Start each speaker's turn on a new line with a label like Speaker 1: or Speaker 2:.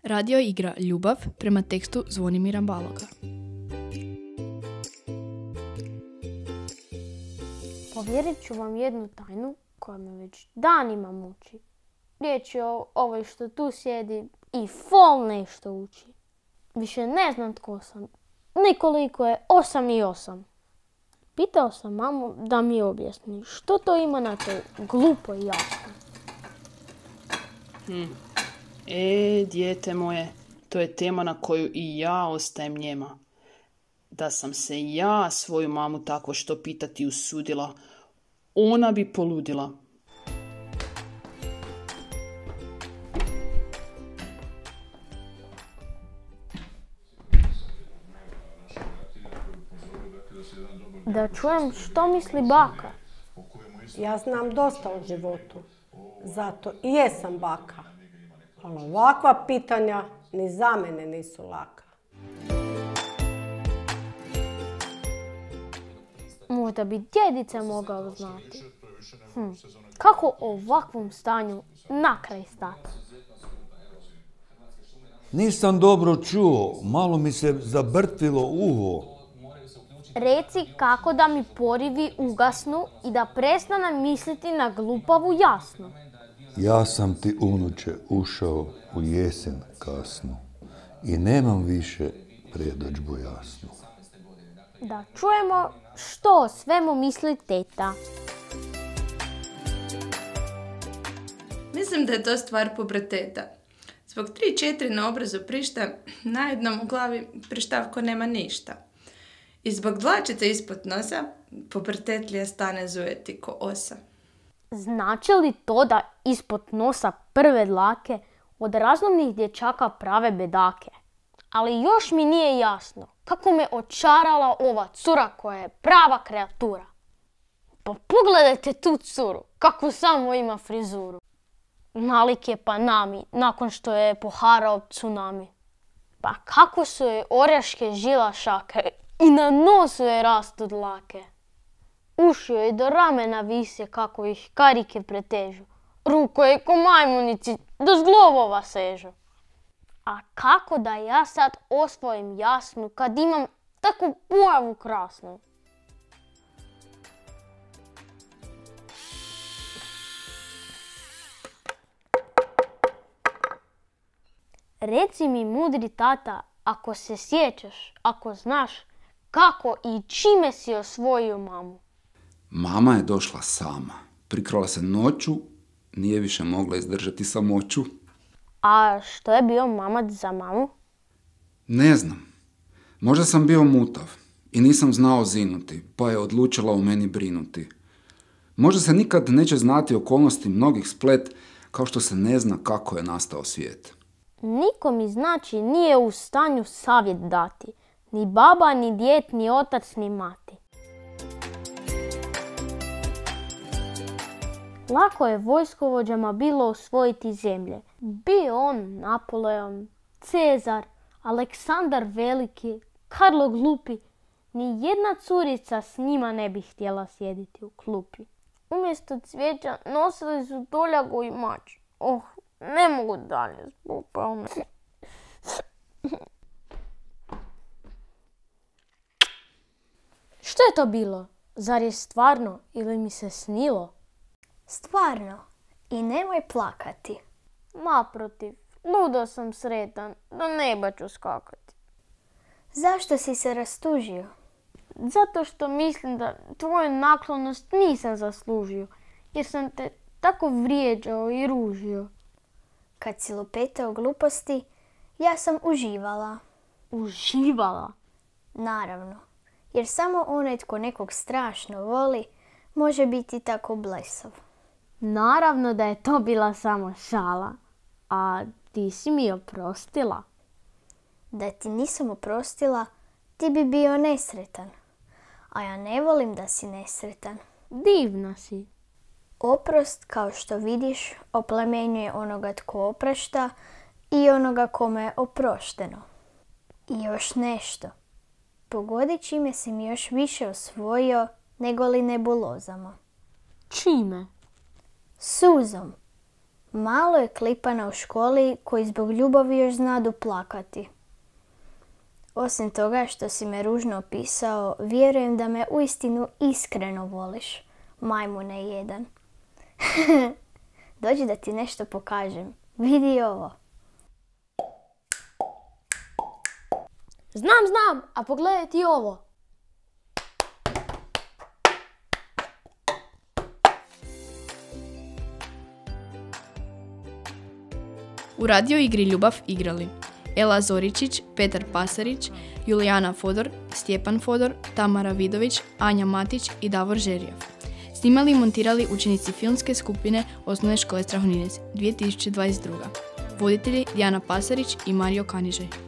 Speaker 1: Radio igra Ljubav prema tekstu Zvonimira Baloga.
Speaker 2: Povjerit ću vam jednu tajnu koja me već danima muči. Riječ je o ovoj što tu sjedi i fol nešto uči. Više ne znam tko sam, nikoliko je 8 i 8. Pitao sam mamu da mi objasni što to ima na toj glupoj jasno.
Speaker 3: Dijete moje, to je tema na koju i ja ostajem njema. Da sam se ja svoju mamu tako što pitati usudila, ona bi poludila.
Speaker 2: Da čujem što misli baka.
Speaker 4: Ja znam dosta o životu, zato i jesam baka. Ali ovakva pitanja ni za mene nisu laka.
Speaker 2: Možda bi djedica mogao znati. Kako ovakvom stanju na kraj stati?
Speaker 5: Nisam dobro čuo, malo mi se zabrtvilo uho.
Speaker 2: Reci kako da mi porivi ugasnu i da prestanem misliti na glupavu jasnu.
Speaker 5: Ja sam ti, unuče, ušao u jesen kasnu i nemam više predodžbu jasnu.
Speaker 2: Da čujemo što o svemu misli teta.
Speaker 6: Mislim da je to stvar puberteta. Zbog 3-4 na obrazu prišta, na jednom u glavi prištavko nema ništa. I zbog dlačice ispod nosa, pubertetlija stane zujeti ko osa.
Speaker 2: Znači li to da ispod nosa prve dlake od razumnih dječaka prave bedake? Ali još mi nije jasno kako me očarala ova cura koja je prava kreatura. Pa pogledajte tu curu, kako samo ima frizuru. Nalik je Panami nakon što je poharao tsunami. Pa kako su joj orjaške žilašake i na nosu je rastu dlake. Uši joj do ramena vise kako ih karike pretežu. Ruko je ko majmunici do zglobova sežu. A kako da ja sad osvojim jasnu kad imam takvu pojavu krasnu? Reci mi, mudri tata, ako se sjećaš, ako znaš, kako i čime si osvojio mamu?
Speaker 7: Mama je došla sama. Prikrala se noću, nije više mogla izdržati samoću.
Speaker 2: A što je bio mamac za mamu?
Speaker 7: Ne znam. Možda sam bio mutav i nisam znao zinuti, pa je odlučila o meni brinuti. Možda se nikad neće znati okolnosti mnogih splet, kao što se ne zna kako je nastao svijet.
Speaker 2: Niko mi znači nije u stanju savjet dati. Ni baba, ni djed, ni otac, ni mati. Lako je vojskovođama bilo osvojiti zemlje. Bio on Napoleon, Cezar, Aleksandar Veliki, Karlo Glupi. Ni jedna curica s njima ne bi htjela sjediti u klupi. Umjesto cvijeća nosili su doljagu i mač. Ne mogu dalje zbog palme. Što je to bilo? Zar je stvarno ili mi se snilo?
Speaker 8: Stvarno. I nemoj plakati.
Speaker 2: Naprotiv, ludo sam sretan, do neba ću skakati.
Speaker 8: Zašto si se rastužio?
Speaker 2: Zato što mislim da tvoju naklonost nisam zaslužio, jer sam te tako vrijeđao i ružio.
Speaker 8: Kad si lupetao gluposti, ja sam uživala.
Speaker 2: Uživala?
Speaker 8: Naravno, jer samo onaj tko nekog strašno voli, može biti tako blesav.
Speaker 2: Naravno da je to bila samo šala. A ti si mi oprostila.
Speaker 8: Da ti nisam oprostila, ti bi bio nesretan. A ja ne volim da si nesretan.
Speaker 2: Divna si.
Speaker 8: Oprost, kao što vidiš, oplemenjuje onoga tko oprašta i onoga kome je oprošteno. I još nešto. Pogodi čime si mi još više osvojio nego li nebulozama.
Speaker 2: Čime?
Speaker 8: Suzom. Malo je klipana u školi koji zbog ljubavi još znadu plakati. Osim toga što si me ružno opisao, vjerujem da me uistinu iskreno voliš, majmune jedan. Dođi da ti nešto pokažem. Vidi ovo.
Speaker 2: Znam, a pogledaj ti ovo.
Speaker 1: U radio igri Ljubav igrali Ela Zoričić, Petar Pasarić, Julijana Fodor, Stjepan Fodor, Tamara Vidović, Anja Matić i Davor Žerijov. Snimali i montirali učenici filmske skupine Osnovne škole Strahoninec 2022. Voditelji Dijana Pasarić i Mario Kanižej.